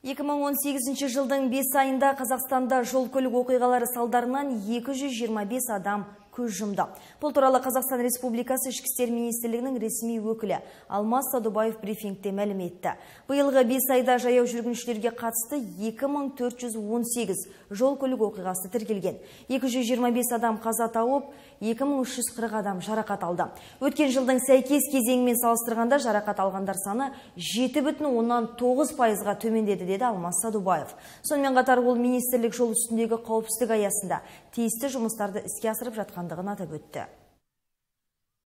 2018 жылдың 5 айында Қазақстанда жол-көлік оқиғалары салдарынан 225 адам көз жұмды. Бұл туралы Қазақстан Республикасы Ішкі істер министрлігінің ресми өкілі Алмас Садубаев брифингте мәлім етті. Биылғы 5 айда жаяу жүргіншілерге қатысты 2418 жол-көлік оқиғасы тіркелген. 225 адам қаза тауып, 2340 адам жарақат алды. Өткен жылдың сәйкес кезеңімен салыстырғанда жарақат алғандар саны 7,9%-ға төмендеді, деді Алмас Садубаев. Сонымен қатар ол министрлік жол үстіндегі қауіпсіздік аясында тиісті жұмыстарды іске асырып жатқандығын атап өтті.